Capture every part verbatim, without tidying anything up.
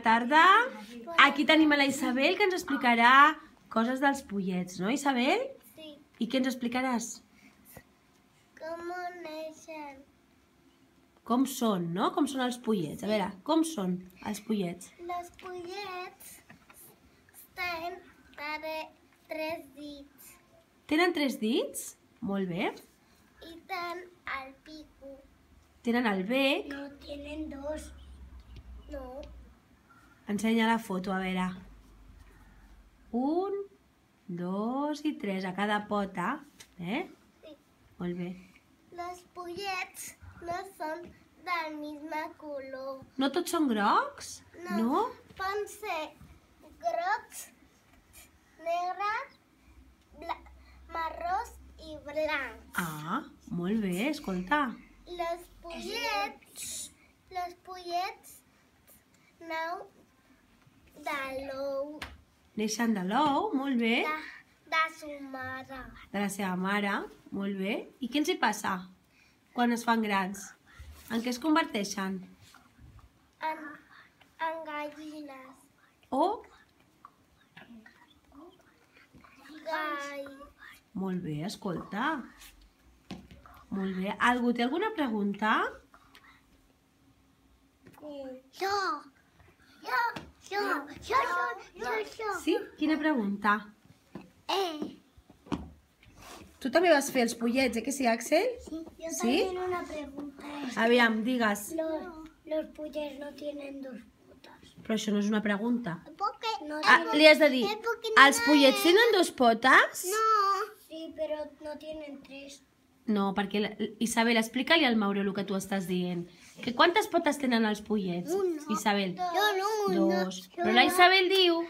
Tarda. Aquí tenim a la Isabel, que ens explicarà coses dels pollets, no, Isabel? Sí. I què ens explicaràs? Com neixen? Com són, no? Com són els pollets? A veure, com són els pollets? Els pollets tenen tres dits. Tenen tres dits? Molt bé. I tenen el pico. Tenen el bec. No, tenen dos. No. Ensenya la foto, a veure. Un, dos i tres a cada pota. Eh? Sí. Molt bé. Els pollets no són del misme color. No tots són grocs? No. No? Poden ser grocs, negres, marrons i blancs. Ah, molt bé, escolta. Els pollets, els pollets nau de l'ou. Neixen de l'ou, molt bé. De, de su mare. De la seva mare, molt bé. I què els hi passa quan es fan grans? En què es converteixen? En, en gallines. O? Gall. Molt bé, escolta. Molt bé. Algú té alguna pregunta? Jo. Jo. Jo. Jo. Jo. Jo. Sí? Quina pregunta? Eh. Tu també vas fer els pollets, eh que sí, Axel? Sí. Yo ¿Sí? también una pregunta. Aviam, digues. Los, los pollets no tienen dos potas. Però això no és una pregunta. ¿Por qué? No, Ah, li has de dir, Es porque no els pollets tenen dos potes? No. Sí, pero no tienen tres. No, perquè, la- Isabel, explica-li al Mauro el que tu estàs dient. Que quantes potes tenen els pollets, Uno, Isabel? Yo no, Dos. Però la Isabel diu...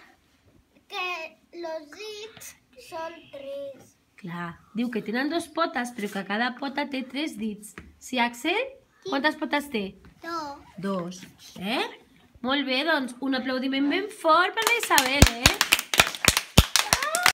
Que los dits son tres. Clar, diu que tenen dos potes, però que cada pota té tres dits. Sí, Axel? Quantes potes té? Dos. Dos. Eh? Molt bé, doncs un aplaudiment ben fort per la Isabel, eh?